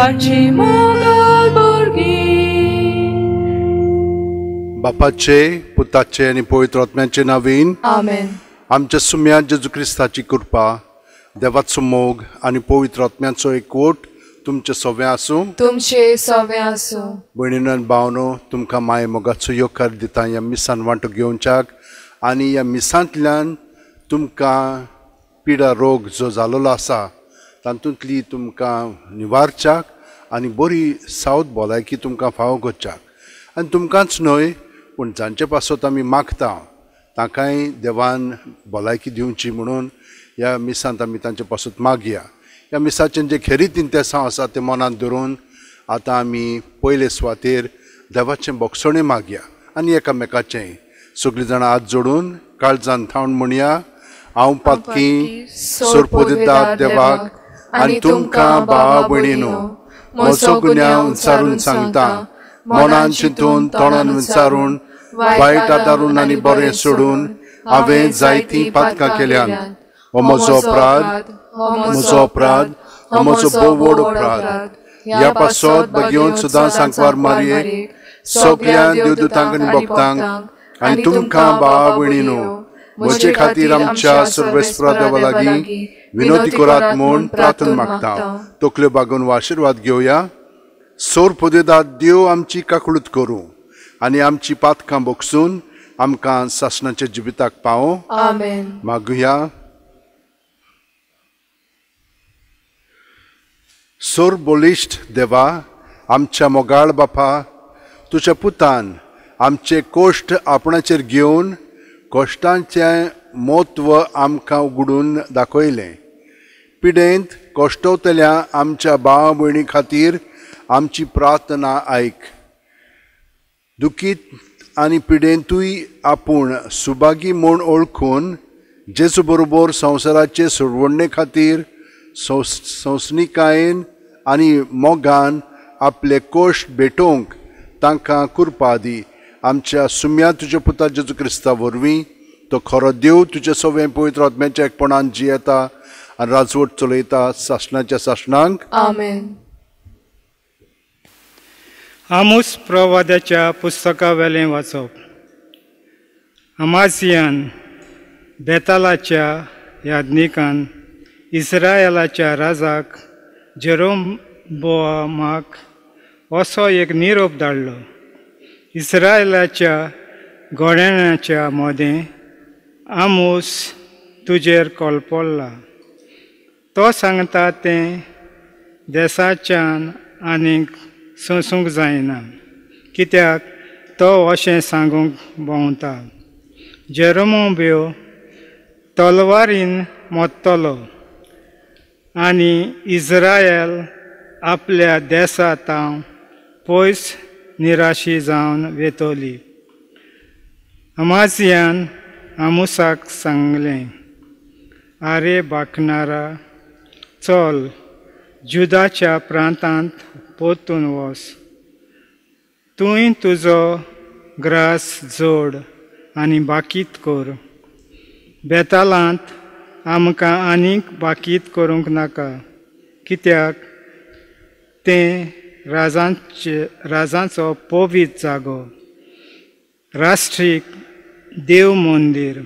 ताची मोगाळ भुरगीं. बापाचे, पुताचे आनी पवित्र आत्म्याचे नांवान आमेन. आमच्या सुम्या जेजू क्रिस्ताची कृपा, देवाचो मोग आनी पवित्र आत्म्याचो एकवट तुमचे सगळें आसूं. तुमचे सगळें आसूं. भयणीनो आनी भावनो, तुमकां माये मोगाचो येवकार दिता ह्या मिसान वांटो घेवच्याक आनी ह्या मिसांतल्यान तुमकां पिडा रोग जो जालोलो आसा तातूंतली तुमकां निवारच्याक आनी बरी सावत भलायकी तुमकां फावो करच्याक. आनी तुमकांच न्हय पूण जांचे पासत आमी मागता तांकांय देवान भलायकी दिवची म्हणून ह्या मिसांत आमी तांचे पासत मागया. ह्या मिसाचें जे खेरीत इंतेसांव आसा तें मनांत धरून आतां आमी पयले सुवातेर देवाचें बोगसणें मागया आनी एकामेकाचें. सगळीं जाणां हात जोडून काळजान थावन म्हणया, हांव पातकी सोरपोदिदार देवाक आनी तुमकां भावा भयणीनो म्हजो गुन्यांव विचारून सांगता, मनान चिंतून तोंडान विचारून वायट आदारून आनी बरें सोडून हांवें जायतीं पातकां केल्यात. हो म्हजो अपराध, म्हजो अपराध, हो म्हजो भोव व्हड अपराध. ह्या पासत बगेवन सुद्दां सांकवार मारये सगळ्या देवदूतांक आनी भक्तांक आनी तुमकां भावा भयणीनो म्हजे खातीर आमच्या सर्वेस्परा देवा लागीं विनोदी करात म्हूण प्रार्थना मागता. तकल्यो बागोवन आशिर्वाद घेवया. सोर पदेदार देव आमची काकळूत करूं आनी आमची पातकां बोगसून आमकां सासणाच्या जिविताक पावो. आमेन. मागुया. सोर बळिश्ट देवा, आमच्या मोगाळ बापा, तुज्या पुतान आमचे कोश्ट आपणाचेर घेवन कश्टांचें म्हत्व आमकां उगडून दाखयलें. पिडेंत कश्टवतल्या आमच्या भाव भयणी खातीर आमची प्रार्थना आयक. दुखीत आनी पिडेंतूय आपूण सुभागी म्हूण वळखून जेजू बरोबर संवसाराचे सोडवणे खातीर संसनिकायेन आनी मोगान आपले कोश्ट भेटोवंक तांकां कृपा दी. आमच्या सुम्या तुज्या पुता जेजू क्रिस्ता वरवीं, तो खरो देव तुज्या सगळें पवित्र आत्म्याच्या एकपणान जियेता आनी राजवट चलयता सासणाच्या सासणांक. आमेन. आमोस प्रवाद्याच्या पुस्तका वेलें वाचप. अमासियान बेतालाच्या याज्ञिकान इस्रायलाच्या राजाक जेरोबोआमाक असो एक निरोप धाडलो. इस्रायलाच्या घोड्याच्या मदें आमोस तुजेर कोलपडला. तो सांगता तें देसाच्यान आनीक सोंसूंक जायना, कित्याक तो अशें सांगूंक भोंवता, जेरोमोब्यो तलवारीन मरतलो आनी इस्रायल आपल्या देसा तावन पयस निराशी जावन वेतली. अमासियान आमोसाक सांगलें, आरे बाकणारा, चल जुदाच्या प्रांतांत परतून वच. तूंय तुजो ग्रास जोड आनी बाकीत कर. बेतालांत आमकां आनीक बाकीत करूंक नाका, कित्याक तें राजांचो पवित्र जागो, राष्ट्रीक देव मंदीर.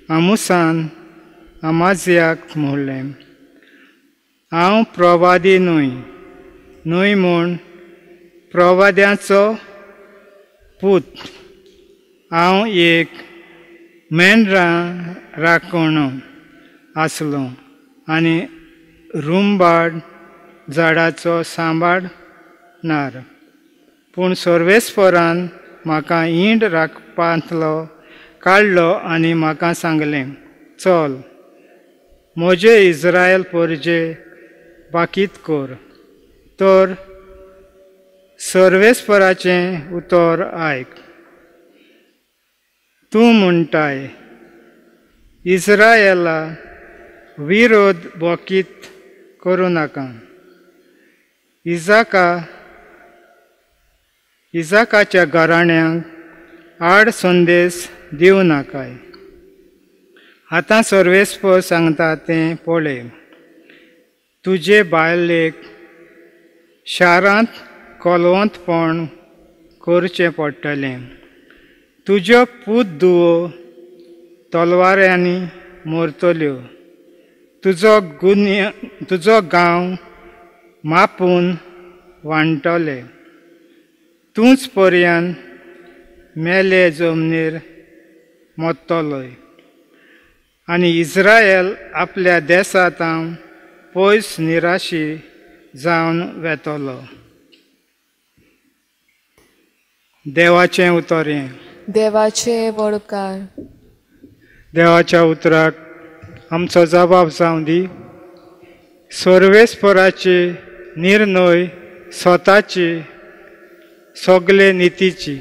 आमोसान अमाजियाक म्हणलें, हांव प्रवादी न्हय, न्हय म्हूण प्रवाद्याचो पूत, हांव एक मेंढरां राखणो आसलो आनी रुंबाड झाडाचो सांबाळणार. पूण सर्वेस्परान म्हाका ईंड राखपांतलो काडलो आनी म्हाका सांगलें, चल म्हजे इस्रायल परजे बाकीत कर. तर सर्वेस्पराचें उतर आयक. तूं म्हणटाय, इस्रायला विरोध बोकीत करूं नाका. इजाकाच्या घराण्यांक आड संदेश दिवं नाकाय. आतां सर्वेस्पर सांगता तें पळय, तुजे बायलेक शारांत कोलवंतपण करचें पडटलें. तुज्यो पूत धुवो तलवाऱ्यांनी मरतल्यो. तुजो गांव मापून वांटले. तूंच पर्यान मेले जमनीर मोत्तलोय आनी इस्रायल आपल्या देसांत पयस निराशी जावन वेतलो. देवाचें उतर हें. देवाचे वडकार. देवाच्या उतराक आमचो जबाब जावं दी. सर्वेस्पराची निर्णय स्वताची सगळे नितीची.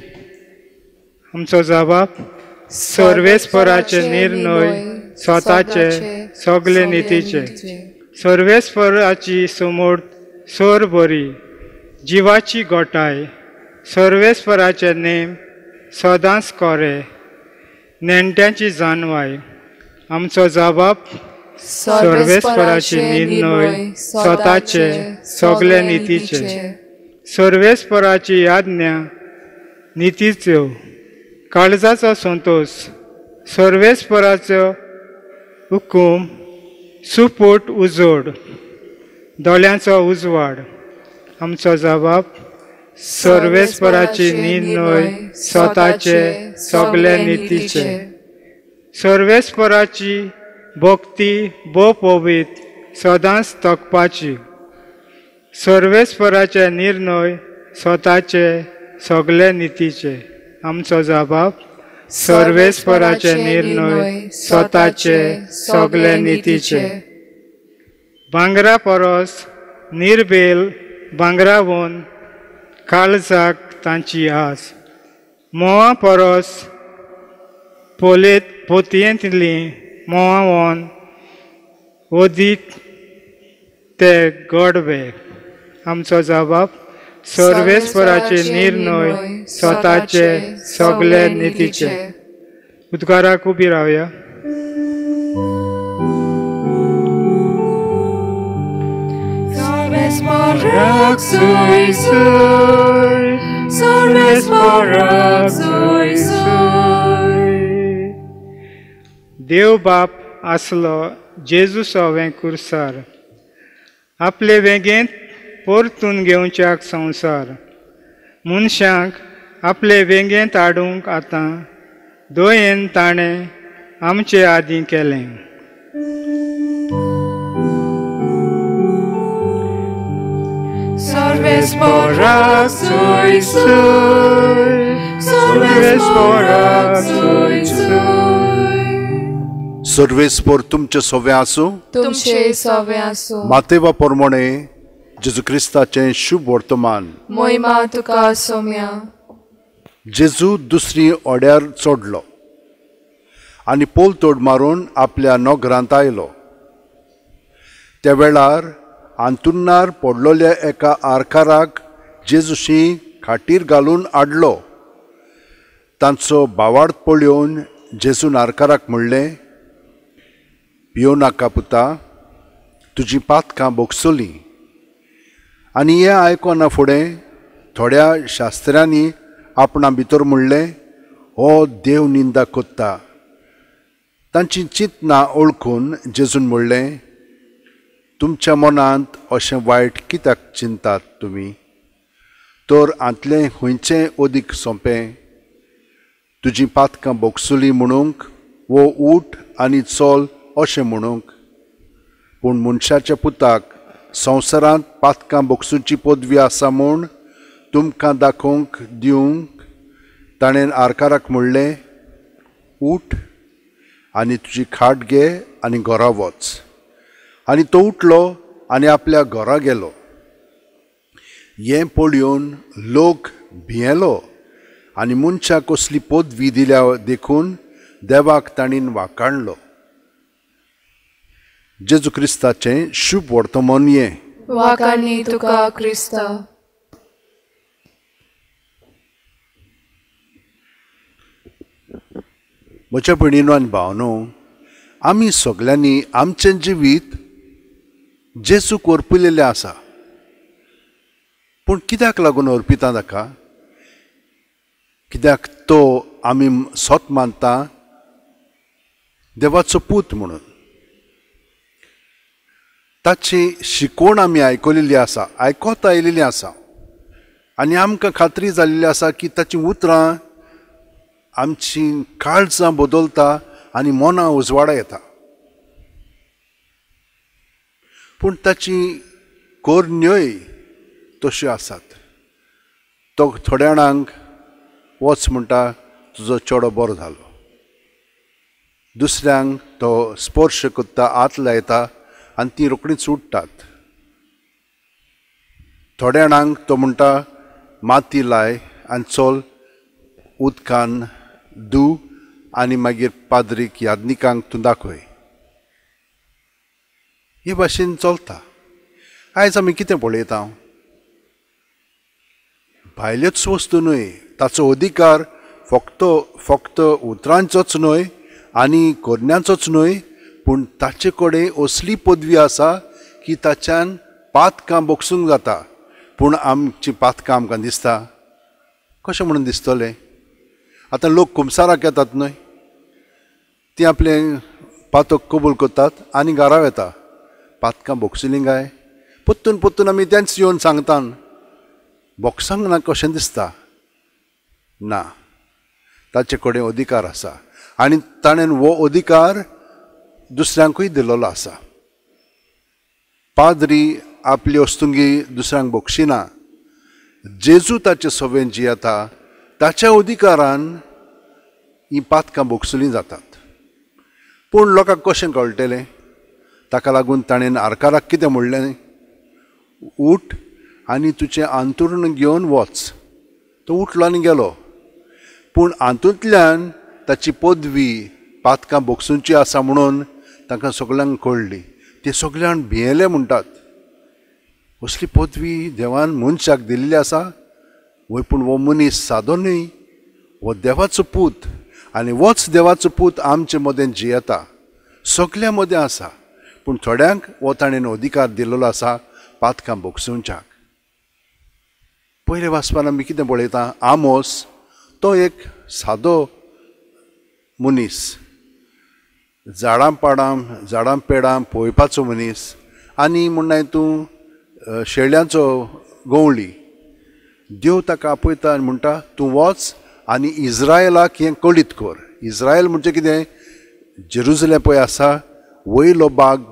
आमचो जबाब सर्वेस्पराचे निर्णय स्वताचे सगळे नितीचे. सर्वेस्पराची समोर सोर बरी जिवाची गोटाय. सर्वेस्पराचे नेम सदांच कोरे नेणट्यांची जानवाय. आमचो जबाब सर्वेस्पराचे निर्णय स्वताचे सगळे नितीचे. सर्वेस्पराची आज्ञा नितीच्यो काळजाचो संतोष. सर्वेस्पराचो हुकूम सुपूट उजोड दोळ्यांचो उजवाड. आमचो जबाब सर्वेस्पराची निर्णय स्वताचे सगळे नितीचे. सर्वेस्पराची भक्ती भोव पवित्र सदांच तकपाची. सर्वेस्पराचे निर्णय स्वताचे सगळे नितीचे. आमचो जबाब सर्वेस्पराचे निर्णय स्वताचे सगळे नितीचे. भांगरा परस निर्बेल भांगरावन काळजाक तांची आस. म्होंवा परस पोतयेंतली म्होंवावन अदीक ते गोडवे. आमचो जबाब सर्वेस्पराचे निर्णय स्वताचे सगळे नितीचे. उद्गाराक उबी रावया. देव बाप आसलो जेजू सवें कुर्सार आपले वेगेंत परतून घेवच्याक संवसार. मनशांक आपले वेंगेंत हाडूंक आतां दयेन ताणें आमचे आदीं केलें. सर्वेस्पर तुमचे सोवे आसूं. तुमचे सोवे आसूं. मातेवा प्रमाणे जेजू क्रिस्ताचें शुभ वर्तमान. मोहिमा तुका सोम्या. जेजू दुसरी ओड्यार चडलो आनी पोलतोड मारून आपल्या नगरांत आयलो. त्या वेळार आंतुन्नार पडलोल्या एका आरकाराक जेजूशी खाटीर घालून हाडलो. तांचो भावार्थ पळोवन जेजून आरकाराक म्हणलें, भियो नाका पुता, तुजी पातकां भोगसलीं. आनी हें आयकना फुडें थोड्या शास्त्र्यांनी आपणा भितर म्हणलें, हो देव निंदा कोत्ता. तांची चिंतना ओळखून जेजून म्हणलें, तुमच्या मनांत अशें वायट कित्याक चिंतात तुमी? तर हांतलें खंयचें अदीक सोंपें, तुजी पातकां भोगसुलीं म्हणूंक वो उठ आनी चल अशें म्हणूंक? पूण मनशाच्या पुताक संवसारांत पातकां भोगसुची पदवी आसा म्हूण तुमकां दाखोवंक दिवंक ताणें आरकाराक म्हणलें, उठ आनी तुजी खाट घे आनी घरा वच. आनी तो उठलो आनी आपल्या घरा गेलो. हें पळोवन लोक भियेलो आनी मनशाक कसली पदवी दिल्या देखून देवाक ताणें वाखाणलो. जेजू क्रिस्ताचें शुभ वर्तमान हें. वाखाणी तुका क्रिस्ता. म्हज्या भयणीनो आनी भावनो, आमी सगल्यांनी आमचें जिवीत जेजूक ओर्पिलेलें आसा. पूण कित्याक लागून अर्पिता ताका? कित्याक तो आमी सत मानता देवाचो पूत म्हणून. ताची शिकवण आमी आयकलेली आसा, आयकत आयिल्ली आसा आनी आमकां खात्री जाल्ली आसा की ताचीं उतरां आमची काळजां बदलता आनी मनां उजवाडा येता. पूण ताची कोरण्योय तश्यो आसात. तो थोड्या जाणांक वच म्हणटा, तुजो चेडो बरो जालो. दुसऱ्यांक तो स्पर्श करता, हात लायता आनी तीं रोखडींच उठ्ठात. थोड्या जाणांक तो म्हणटा, माती लाय आनी चल उदकान धू आनी मागीर पाद्रीक यादनिकांक तूं दाखय. हे भाशेन चलता. आयज आमी कितें पळयता? भायल्योच वस्तू न्हय, ताचो अधिकार फक्त फक्त उतरांचोच न्हय आनी करण्यांचोच न्हय, पूण ताचे कडेन असली पदवी आसा की ताच्यान पातकां बोगसूंक जाता. पूण आमची पातकां आमकां दिसता कशें म्हणून दिसतलें? आतां लोक कुमसाराक येतात न्हय, ती आपलें पातक कबूल करतात आनी घरा वता. पातकां बोगसलीं काय? परतून परतून आमी तेंच येवन सांगता, बोगसांक ना कशें दिसता? ना, ताचे कडेन अधिकार आसा आनी ताणें हो अधिकार दुसऱ्यांकूय दिल्लो आसा. पाद्री आपली वस्तुंगी दुसऱ्यांक बोगशिना. जेजू ताचे सवें जियेता, ताच्या अधिकारान हीं पातकां बोगसलीं जातात. पूण लोकांक कशें कळटलें? ताका लागून ताणें आरकाराक कितें म्हणलें? उठ आनी तुजें आंतुर्ण घेवन वच. तो उठलो आनी गेलो. पूण हातूंतल्यान ताची पदवी पातकां बोगसुची आसा म्हणून तांकां सगळ्यांक कळ्ळी. ते सगळ्यांक भियेले म्हणटात, असली पदवी देवान मनशाक दिल्ली आसा वय, पूण हो मनीस सादो न्हय, हो देवाचो पूत आनी होच देवाचो पूत आमचे मदें जियेता, सगळ्यां मदें आसा. पूण थोड्यांक हो ताणें अधिकार दिल्लो आसा पातकां बोगसुच्याक. पयले वाचपान आमी कितें पळयता? आमोस तो एक सादो मनीस, झाडां पाडां झाडां पेडां पळोवपाचो मनीस आनी म्हणनाय तूं शेळ्यांचो गवळी. देव ताका आपयता आनी म्हणटा, तूं वच आनी इज्रायलाक हें कळीत कर. इज्रायल म्हणजे कितें? जेरुजलेम पळय आसा, वयलो बाग,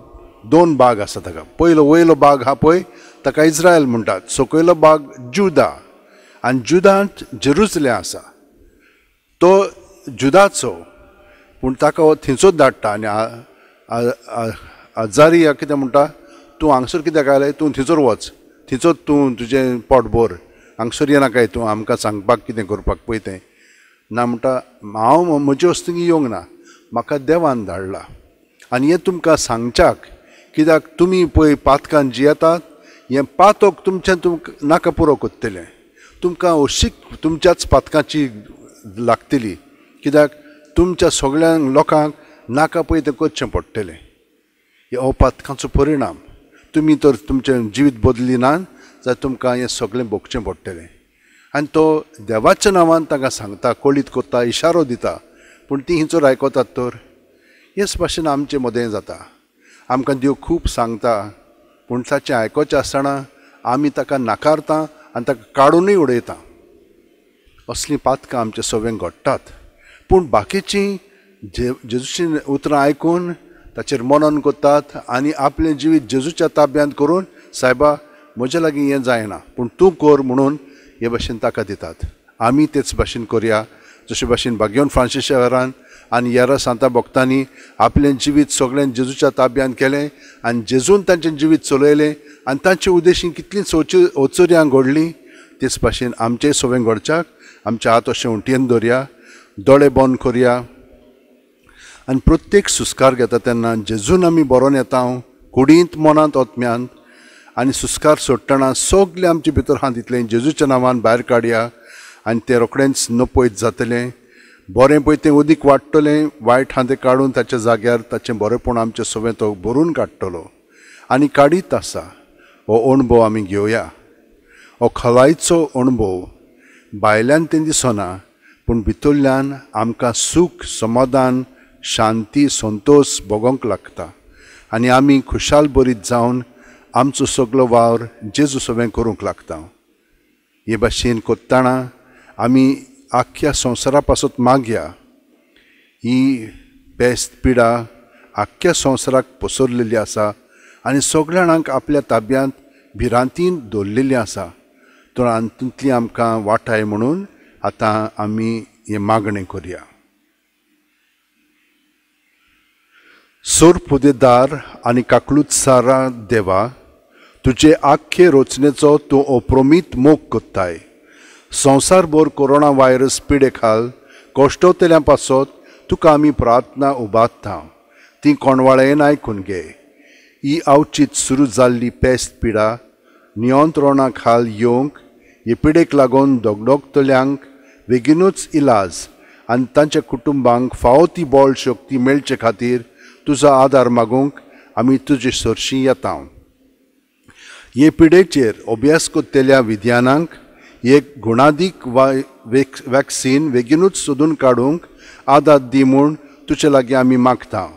दोन बाग आसा ताका. पयलो वयलो बाग आहा पळय ताका इज्रायल म्हणटात, सकयलो बाग जुदा आनी जुदांत जेरुजलेम आसा. तो जुदाचो, पूण ताका हो थंयचोच धाडटा आनी आजारिया कितें म्हणटा, तूं हांगसर कित्याक आयलें? तूं थंयसर वच, थंयसर तूं तुजें पोट भर, हांगसर येनाकाय तूं आमकां सांगपाक कितें करपाक पळय तें. ना म्हणटा, हांव म्हजे वस्तूंक येवंक ना, म्हाका देवान धाडला आनी हें तुमकां सांगच्याक, कित्याक तुमी पळय पातकान जियेतात, हें पातक तुमचें तुमकां नाका पुरो करतलें, तुमकां अशीक तुमच्याच पातकाची लागतली, कित्याक तुमच्या सगळ्या लोकांक नाका पळय तें करचें पडटलें. हो पातकांचो परिणाम. तुमी तर तुमचें जिवीत बदली ना जाल्यार तुमकां हें सगळें भोगचें पडटलें. आनी तो देवाच्या नांवान तांकां सांगता, कळीत करता, इशारो दिता, पूण तीं हिंचोर आयकतात तर. हेच भाशेन आमचे मदें जाता. आमकां देव खूब सांगता, पूण ताचें आयकोचें आसतना आमी ताका नाकारता आनी ताका काडुनूय उडयता. असलीं पातकां आमचे सगळें घडटात. पूण बाकीचीं जेजूचीं उतरां आयकून ताचेर मनन करतात आनी आपलें जिवीत जेजूच्या ताब्यांत करून, सायबा म्हज्या लागीं हें जायना पूण तूं कर म्हणून हे भाशेन ताका दितात. आमी तेच भाशेन करया, जशे भाशेन भाग्यवन फ्रांसीस शारान आनी येरा सांता भक्तांनी आपलें जिवीत सगळें जेजूच्या ताब्यांत केलें आनी जेजून तांचें जिवीत चलयलें आनी तांचे उद्देशीन कितलीं ओचोर्यां घडलीं. तेच भाशेन आमचें सगळें घडच्याक आमचे हात अशें उंटयेन दवरया, दोळे बंद करया आनी प्रत्येक सुस्कार घेता तेन्ना जेजून आमी बरोवन येता कुडींत, मनांत, आत्म्यांत आनी सुस्कार सोडटना सगळें आमचे भितर आहा तितलें जेजूच्या नांवान भायर काडया आनी तें रोखडेंच नपयत जातलें. बरें पळय तें उदीक वाडटलें, वायट आहा तें काडून ताच्या जाग्यार ताचें बरेंपण आमचें सगळें तो भरून काडटलो आनी काडीत आसा. हो अणभव आमी घेवया. हो खोलायचो अणभव भायल्यान तें दिसना पूण भितरल्यान आमकां सूख, समाधान, शांती, संतोश भोगोंक लागता आनी आमी खुशाल बरीत जावन आमचो सगलो वावर जेजू सवें करूंक लागता. हे भाशेन कोत्ताणा आमी आख्ख्या संवसारा पासत मागया. ही पेस्त पिडा आख्ख्या संवसाराक पसरलेली आसा आनी सगळ्या जाणांक आपल्या ताब्यांत भिरांतीन दवरलेली आसा. तर हातूंतली आमकां वाटाय म्हणून आतां आमी हें मागणें करया. सोरपुदेदार आनी काकलूत सारा देवा, तुजे आख्खे रचनेचो तूं अप्रमीत मोग कोत्ताय. संवसारभर कोरोना व्हायरस पिडे खाल कश्टवतल्या पासत तुका आमी प्रार्थना उबारता, ती कोणवाळेन आयकून घे. ही अवचीत सुरू जाल्ली पेस्त पिडा नियंत्रणा खाल येवंक हे पिडेक लागून दगदगतल्यांक बेगीनूच इलाज आनी तांच्या कुटुंबांक फावो ती बळ शक्ती मेळचे खातीर तुजो आदार मागूंक आमी तुजे सरशी येता. हे पिडेचेर अभ्यास करतल्या विज्ञानांक एक गुणादीक वॅक्सीन बेगीनूच सोदून काडूंक आदार दी म्हूण तुजे लागीं आमी मागता.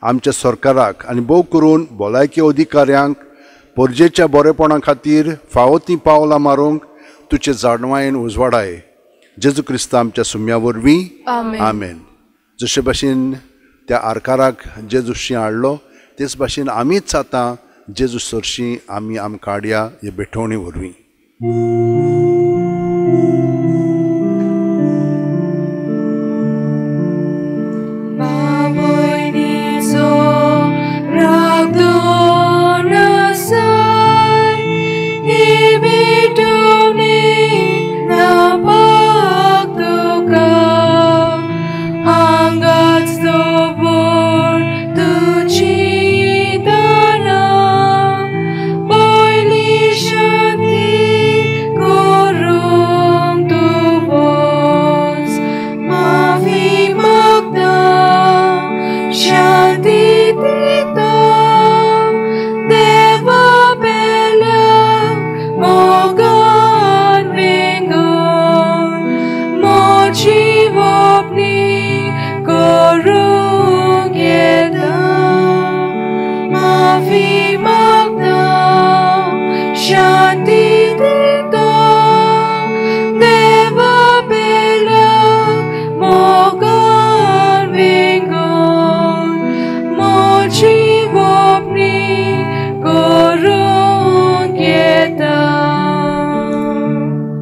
आमच्या सरकाराक आनी भोव करून भलायकी अधिकाऱ्यांक परजेच्या बरेपणा खातीर फावो तीं पावलां मारूंक तुजे जाणवायेन उजवाडाय. जेजू क्रिस्ता आमच्या सुम्या वरवीं आमेन. जशे भाशेन त्या आरकाराक जेजूशी हाडलो तेच भाशेन आमीच आतां जेजू सरशी आमी आमकां हाडया हे भेटवणी वरवीं.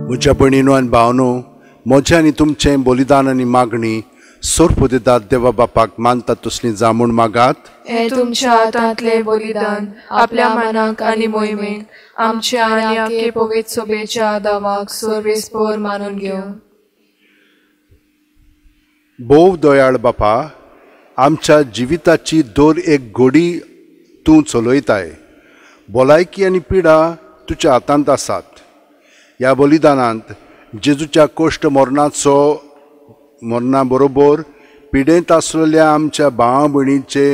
म्हज्या भयणीनो आनी भावनो, म्हजें आनी तुमचें बलिदान आनी मागणी सोरपुदेदार देवा बापाक मानता तसली जा म्हूण मागात. हें तुमच्या हातांतलें बलिदान आपल्या मनाक आनी मोहिमेक आमच्या आनी आख्खे पवित्र सभेच्या दावाक सर्वेस्पर मानून घेवं. भोव दयाळ बापा, आमच्या जिविताची दर एक घडी तूं चलयताय. भलायकी आनी पिडा तुज्या हातांत आसात. ह्या बलिदानांत जेजूच्या कोश्ट मरणाचो मरणा बरोबर पिडेंत आसलेल्या आमच्या भावा भयणीचे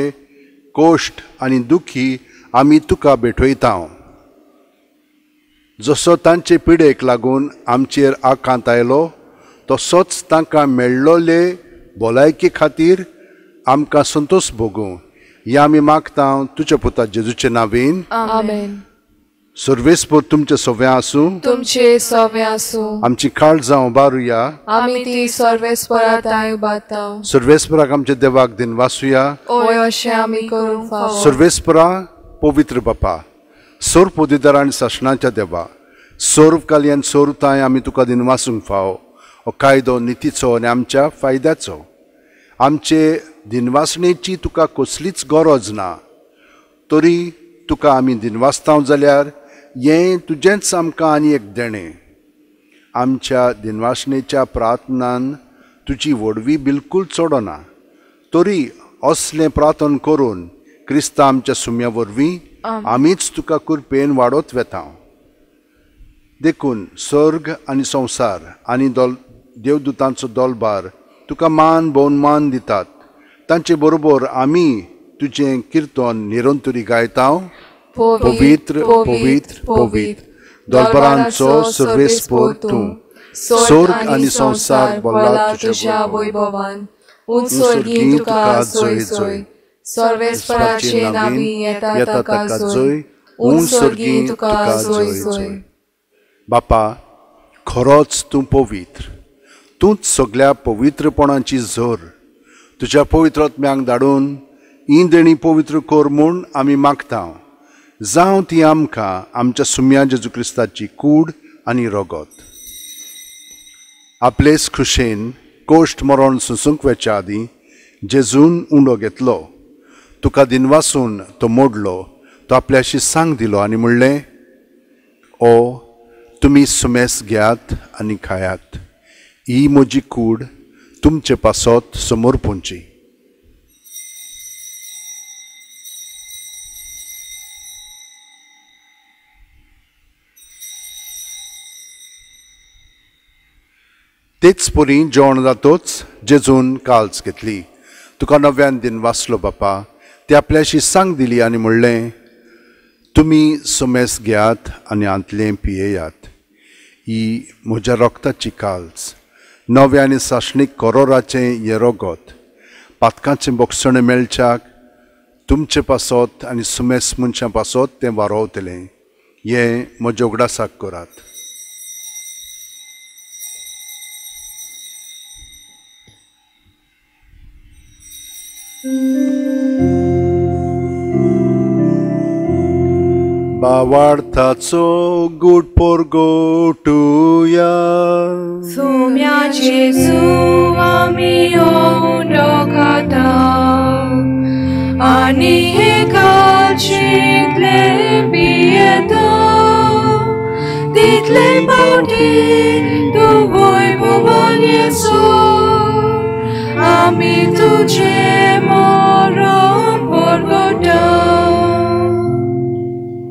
कोश्ट आनी दुखी आमी तुका भेटयता. जसो तांचे पिडेक लागून आमचेर आकांत आयलो तसोच तांकां मेळ्ळोले भलायके खातीर आमकां संतोश भोगूं हें आमी मागता तुज्या पुता जेजूचे नांवेन. आमेन. सर्वेस्पर तुमचे सव्या आसूं, तुमचे सव्या आसूं. आमची काळजां उबारुया, आमी ती सर्वेस्परा तांय उबारता. सर्वेस्पराक आमच्या देवाक दिनवासुया, ओय अशें आमी करूंक फावो. सर्वेस्परा पवित्र बापा, सर्व पदवीधर आनी सासणाच्या देवा, सर्व काली आनी सर्व तांय आमी तुका दिनवासूंक फावो. हो कायदो नितीचो आनी आमच्या फायद्याचो. आमचे दिनवासणेची तुका कसलीच गरज ना, तरी तुका आमी दिनवासता जाल्यार हें तुजेंच आमकां आनी एक देणें. आमच्या दिनवासणेच्या प्रार्थनान तुजी व्हडवी बिलकूल चडना, तरी असलें प्रार्थन करून क्रिस्ता आमच्या सुम्या वरवीं आमीच तुका कृपेन वाडत वेता. देखून स्वर्ग आनी संवसार आनी देवदूतांचो दोलबार तुका मान भोवमान दितात. तांचे बरोबर आमी तुजें किर्तन निरंतरी गायता. पवित्र पवित्र पवित्र दरबारांचो सर्वेस्पोर तूं, स्वर्ग आनी संवसार भरला तुज्या वैभवान, उंच स्वर्गी तुका जोय जोय, सर्वेस्पराचे नांवी येता ताका जोय, उंच स्वर्गी तुका जोय जोय. बापा, खरोच तूं पवित्र, तूंच सगळ्या पवित्रपणाची जोर. तुज्या पवित्र आत्म्यांक धाडून ही देणी पवित्र कर म्हूण आमी मागता. जावं ती आमकां आमच्या सुम्या जेजू क्रिस्ताची कूड आनी रगत. आपलेच खुशेन कोश्ट मरण सोंसूंक वेच्या आदीं जेजून उंडो घेतलो, तुका दिनवासून तो मोडलो, तो आपल्याशी सांग दिलो आनी म्हणलें, ओ तुमी सुमेस घेयात आनी खायात, ही म्हजी कूड तुमचे पासत समर्पूंची. तेच परी जेवण जातोच जेजून काल्स घेतली, तुका नव्यान दिन वाचलो बापा, ती आपल्याशी सांग दिली आनी म्हणलें, तुमी सुमेस घेयात आनी आंतलें पियेयात, ही म्हज्या रक्ताची काल्स, नव्या आनी सासणीक करोराचें हें रगत, पातकांचें बोगसणें मेळच्याक तुमचे पासत आनी सुमेस मनशां पासत तें वारोवतलें, हें म्हज्या उगडासाक करात. बावार्थाचो गूट परगोटुया, सुम्या जेजू आमी उंडो खाता आनी हे कालचींतले पियेता, तितले पावटी तूं वैभवान येसो, आमी तुजें मरण परगटा.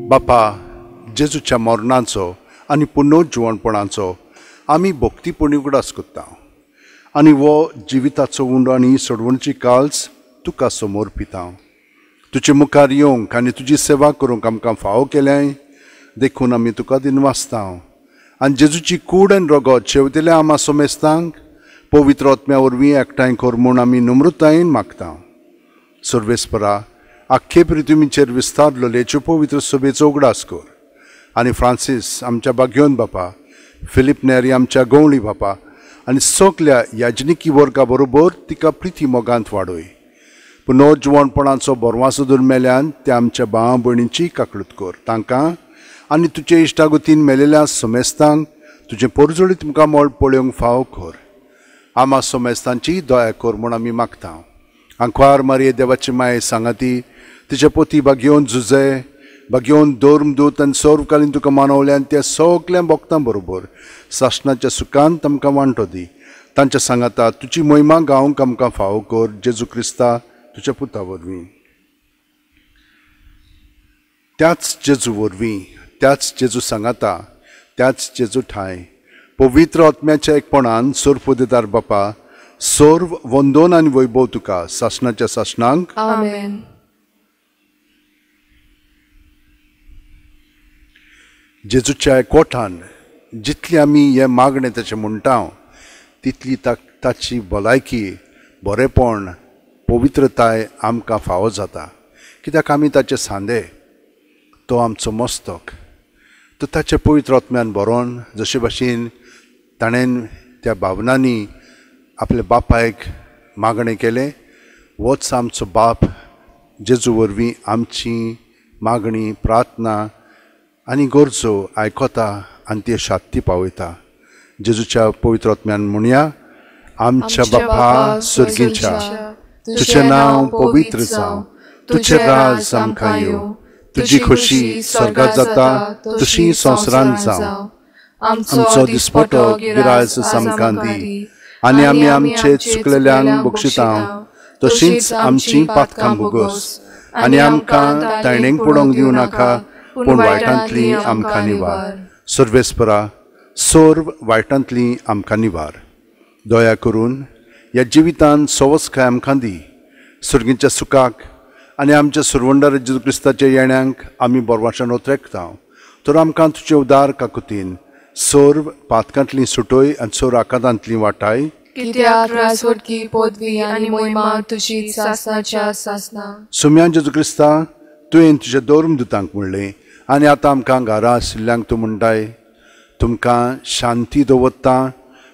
बापा, जेजूच्या मरणाचो आनी पुनर्जिवणपणाचो आमी भक्तीपणी उगडास करता आनी हो जिविताचो उंडो आनी सोडवणची काल्स तुका समर्पिता. तुजे मुखार येवंक आनी तुजी सेवा करूंक आमकां फावो केल्याय देखून आमी तुका दिनवासता आनी जेजूची कूड आनी रगत शेवतेल्या आमा सोमेस्तांक पवित्र आत्म्या वरवीं एकठांय कर म्हूण आमी नम्रतायेन मागता. सर्वेस्परा, आख्खे पृथ्वीचेर विस्तारलेलेच्यो पवित्र सभेचो उगडास कर आनी फ्रांसीस आमच्या बाग्योन बापा, फिलीप नेरी आमच्या गवळी बापा आनी सगल्या याजनिकी वर्गा बरोबर तिका प्रिती मोगांत वाडय. पुनर्जिवणपणाचो बरवासो दुर्मेल्यान त्या आमच्या भाव भयणींची काकळूत कर, तांकां आनी तुजे इश्टागतीन मेलेल्या समेस्तांक तुजें परजळीत मुखामळ पळोवंक फावो कर. आमा समेस्तांची दया कर म्हूण आमी मागता. आंकवार मारये देवाची माये सांगाती तिचे पोती बागयोवन झुजे बागयोवन धर्मदूत आनी सर्वकालीन तुका मानवल्यान त्या सगल्या भक्तां बरोबर सासणाच्या सुखान तांकां वांटो दी. तांच्या सांगाता तुजी महिमा गावंक आमकां फावो कर, जेजू क्रिस्ता तुज्या पुता वरवीं. त्याच जेजू वरवीं, त्याच जेजू सांगाता, त्याच जेजू ठांय पवित्र आत्म्याच्या एकपणान सर्वदेदार बापा सर्व वंदन आनी वैभव तुका सासणाच्या सासणांक. आमेन. जेजूच्या एकवटान जितली आमी हें मागणें ताचें म्हणटा तितली ताची भलायकी, बरेपण, पवित्रताय आमकां फावो जाता, कित्याक आमी ताचे सांदे, तो आमचो मस्तक. तो ताचे पवित्र आत्म्यान बरोवन जशे भाशेन ताणें त्या भावनांनी आपल्या बापायक मागणें केलें, होच आमचो बाप जेजू वरवीं आमची मागणी, प्रार्थना आनी गरजो आयकता आनी त्यो शांती पावयता. जेजूच्या पवित्र आत्म्यान म्हणया, आमच्या बापा सर्गीच्या, तुजें नांव पवित्र जावं, तुजें राज आमकां येवं, तुजी खोशी स्वर्गात जाता तशी संवसारांत जावं. आमचो दिसपटो गिराज आमकां दी आनी आमी आमचे चुकलेल्यांक बक्षिता तशींच आमची पातकां भोगोस आनी आमकां ताणेंक पडोवंक दिवं नाका, पूण वायटांतली आमकां निवार. सर्वेस्परा, सर्व वायटांतली आमकां निवार. दया करून ह्या जिवितान सवसकाय आमकां दी, सर्गीच्या सुखाक आनी आमच्या सुरवंडार जेजू क्रिस्ताच्या येण्यांक आमी बरवाशान ओत्रेकता. तर आमकां तुजे उदार काकुतीन सर्व पातकांतली सुटोय आनी सर्व आकांतांतली वाटाय. कित्याक राजवटकी पदवी आनी मोहिमा तुजी सासणाच्या सासना. सुम्यान जेजू क्रिस्ता, तुवें तुज्या धर्मदुतांक म्हणलें आनी आतां आमकां घरा आशिल्ल्यांक तूं म्हणटाय, तुमकां शांती दवरता,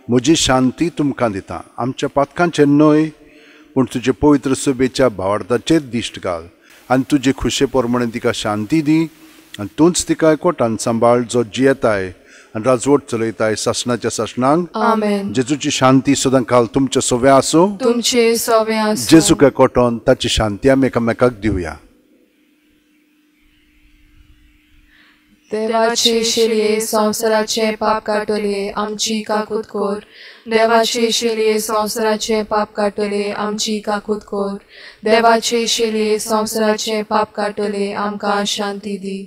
म्हजी शांती तुमकां दिता. आमच्या पातकांचेर न्हय पूण तुजे पवित्र सभेच्या भावार्थाचेर दिश्ट घाल आनी तुजे खुशे प्रमाणे तिका शांती दी आनी तूंच तिका एकवटान सांबाळ जो जियेताय आनी राजवट चलयताय सासणाच्या सासणांक. आमेन. जेजूची शांती सदां काल तुमचे सोवे आसूं. तुमचे सोवे आसूं. जेजूक एकवटोन ताची शांती आमी एकामेकाक दिवया. देवाचे शेलये संवसाराचे पाप काडटले आमची काकूत कर. देवाचे शेलये संवसाराचे पाप काडटले आमची काकूत कर. देवाचे शेलये संवसाराचे पाप काडटले आमकां शांती दी.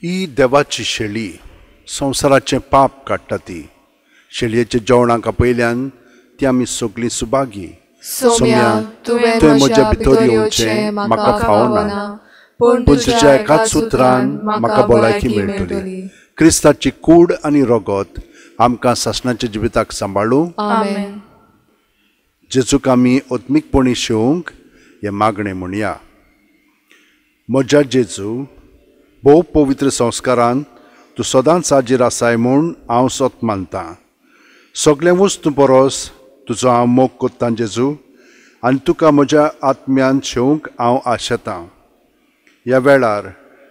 ही देवाची शेळी संवसाराचें पाप काडटा. ती शेळयेच्या जेवणाक आपयल्यान ती आमी सगळीं सुभागी. सोम्या, तुवें म्हज्या भितर येवचें म्हाका फावना, पूण तुज्या एकाच उतरान म्हाका भलायकी मेळटली. क्रिस्ताची कूड आनी रगत आमकां सासणाच्या जिविताक सांबाळूं. आमेन. जेजूक आमी आत्मीकपणी शेवंक हें मागणें म्हणया. म्हज्या जेजू, भोव पवित्र संस्कारान तूं सदांच हाजीर आसाय म्हूण हांव सत मानतां. सगळें वस्तू परस तुजो हांव मोग कोत्तां जेजू, आनी तुका म्हज्या आत्म्यान शेवंक हांव आशेतां. ह्या वेळार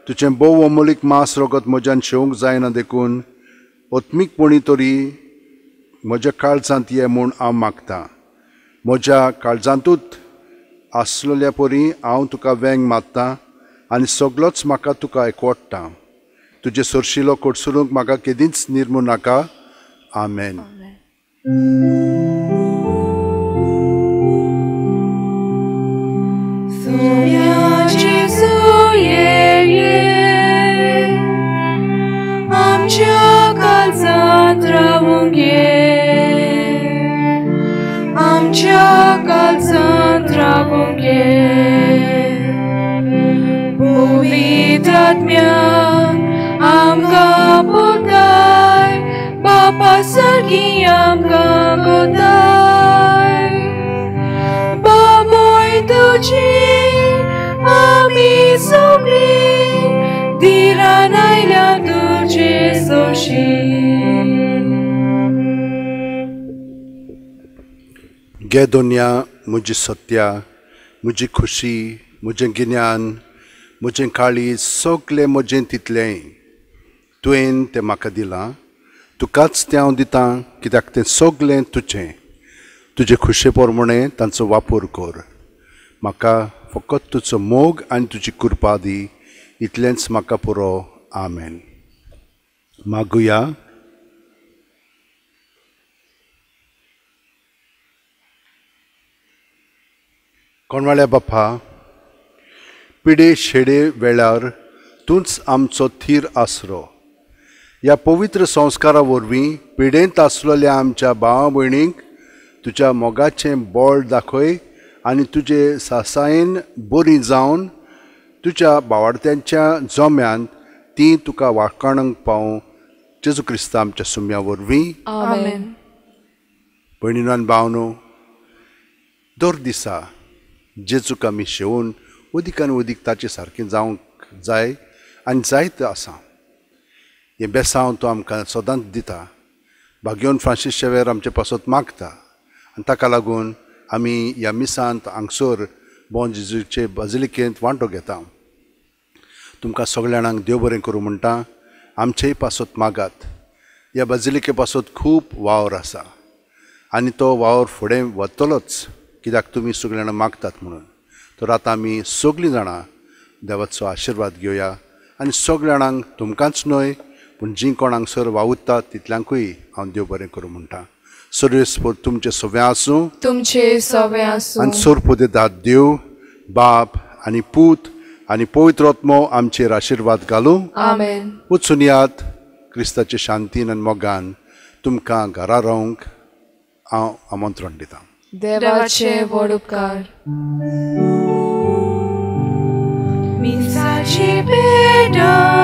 तुजें भोव अमोलीक मांस रगत म्हज्यान शेवंक जायना देखून आत्मीकपणी तरी म्हज्या काळजांत ये म्हूण हांव मागतां. म्हज्या काळजांतूच आसलेल्या परी हांव तुका वेंग मारतां आनी सगळोच म्हाका तुका एकवटता. तुजे सरशिलो कोटसुरूंक म्हाका केदींच निर्मू नाका. आमेन. आमच्या काळजांत रावूंक ये, आमच्या काळजांत रावूंक ये. पवित्र आत्म्यान आमकां पोताय, बापा सारकी आमकां कोताय. बाबोय तुजी आमी सगळीं धिरान आयल्या तुजे सोशी. गे दोनया, म्हजी सत्या, म्हजी खुशी, म्हजें गिन्यान, म्हजें काळीज, सगळें म्हजें तितलें तुवें तें म्हाका दिलां. तुकाच तें हांव दितां कित्याक तें सगळें तुजें. तुजे खुशे प्रमाणे तांचो वापर कर. म्हाका फकत तुजो मोग आनी तुजी कृपा दी, इतलेंच म्हाका पुरो. आमेन. मागुया. कोणवाळ्या बापा, पिडे शेडे वेळार तूंच आमचो थीर आसरो. ह्या पवित्र संस्कारा वरवीं पिडेंत आसलेल्या आमच्या भावा भयणींक तुज्या मोगाचें बळ दाखय आनी तुजे सासायेन बरी जावन तुज्या बावाडत्यांच्या जम्यांत ती तुका वाखाणूंक पावूं. जेजू क्रिस्ता आमच्या सुम्या वरवीं. आमेन. भयणीनो आनी भावनो, दर दिसा जेजूक आमी शेवून अदीक आनी अदीक ताचे सारकें जावंक जाय आनी जायत आसा. हें बेसांव तो आमकां सदांच दिता. भाग्योन फ्रांसीस शेवेर आमचे पासत मागता आनी ताका लागून आमी ह्या मिसांत हांगसर बॉन जेजूचे बाजिलिकेंत वांटो घेता. तुमकां सगळ्या जाणांक देव बरें करूं म्हणटा. आमचेय पासत मागात. ह्या बाजिलिके पासत खूब वावर आसा आनी तो वावर फुडें वतलोच कित्याक तुमी सगळीं जाणां मागतात म्हणून. तर आतां आमी सगळीं जाणां देवाचो आशिर्वाद घेवया आनी सगळ्या जाणांक, तुमकांच न्हय पूण जीं कोण हांगसर वावुरतात तितल्यांकूय हांव देव बरें करूं म्हणटा. सर्वेस्पर तुमचें सवें आसूं, तुमचें सवें आसूं. आनी सर्वपुदेदात देव बाप आनी पूत आनी पवित्र आत्मो आमचेर आशिर्वाद घालूं. आमेन. वचून यात क्रिस्ताचे शांतीन आनी मोगान तुमकां घरा रावंक हांव आमंत्रण दितां. देवाचे व्हड उपकार. मिसाची पेडा.